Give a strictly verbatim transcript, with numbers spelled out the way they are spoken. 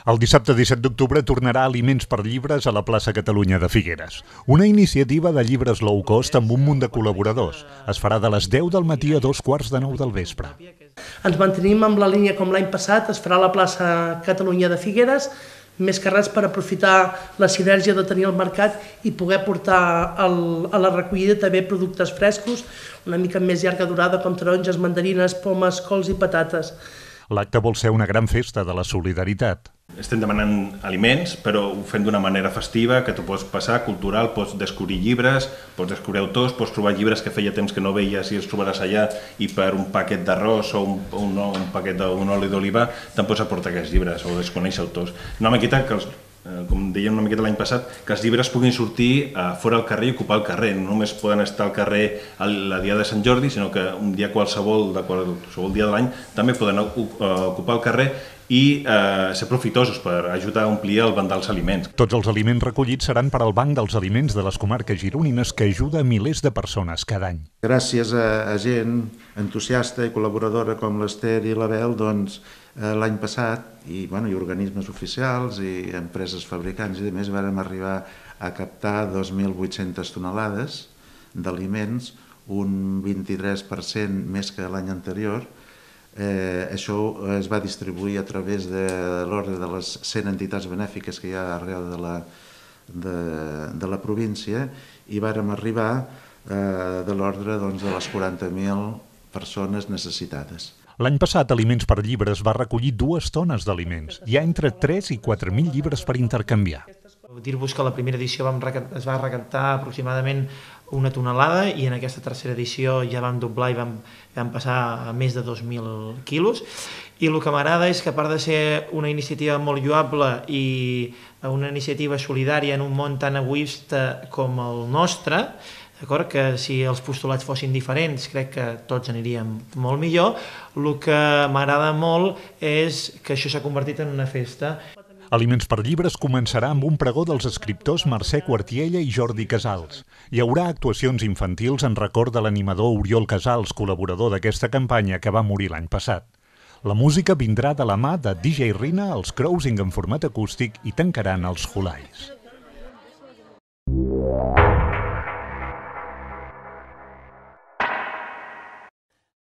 El dissabte disset d'octubre tornarà Aliments per Llibres a la plaça Catalunya de Figueres. Una iniciativa de llibres low cost amb un munt de col·laboradors. Es farà de les deu del matí a dos quarts de nou del vespre. Ens mantenim amb la línia com l'any passat, es farà a la plaça Catalunya de Figueres, més que res per aprofitar la sinergia de tenir el mercat i poder portar el, a la recollida també productes frescos, una mica més llarga durada, com taronges, mandarines, pomes, cols i patates. L'acte vol ser una gran festa de la solidaritat. Estem demanant aliments, però ho fem d'una manera festiva, que tu pots passar, cultural, pots descobrir llibres, pots descobrir autors, pots trobar llibres que feia temps que no veies i els trobaràs allà, i per un paquet d'arròs o un, un, un paquet d'un oli d'oliva te'n pots aportar aquests llibres o desconèixer autors. Una miqueta que els com dèiem una miqueta l'any passat, que els llibres puguin sortir fora al carrer i ocupar el carrer. No només poden estar al carrer el dia de Sant Jordi, sinó que un dia qualsevol, de qualsevol dia de l'any, també poden ocupar el carrer i eh, ser profitosos per ajudar a omplir el banc dels aliments. Tots els aliments recollits seran per al Banc dels Aliments de les comarques gironines, que ajuda a milers de persones cada any. Gràcies a, a gent entusiasta i col·laboradora com l'Ester i l'Abel, doncs, eh, l'any passat, i, bueno, i organismes oficials i empreses fabricants i demés, vàrem arribar a captar dos mil vuit-centes tonelades d'aliments, un vint-i-tres per cent més que l'any anterior. Eh, això es va distribuir a través de l'ordre de les cent entitats benèfiques que hi ha arreu de la, de, de la província, i vàrem arribar eh, de l'ordre, doncs, de les quaranta mil persones necessitades. L'any passat, Aliments per Llibres va recollir dues tones d'aliments. Hi ha entre tres i quatre mil llibres per intercanviar. Dir-vos que la primera edició vam, es va recaptar aproximadament una tonelada i en aquesta tercera edició ja vam doblar i vam, vam passar a més de dos mil quilos. I el que m'agrada és que, a part de ser una iniciativa molt lloable i una iniciativa solidària en un món tan egoista com el nostre, d'acord, que si els postulats fossin diferents crec que tots aniríem molt millor, el que m'agrada molt és que això s'ha convertit en una festa. Aliments per Llibres començarà amb un pregó dels escriptors Mercè Quartiella i Jordi Casals. Hi haurà actuacions infantils en record de l'animador Oriol Casals, col·laborador d'aquesta campanya, que va morir l'any passat. La música vindrà de la mà de D J Rina, els Cruising en format acústic, i tancaran els Hulais.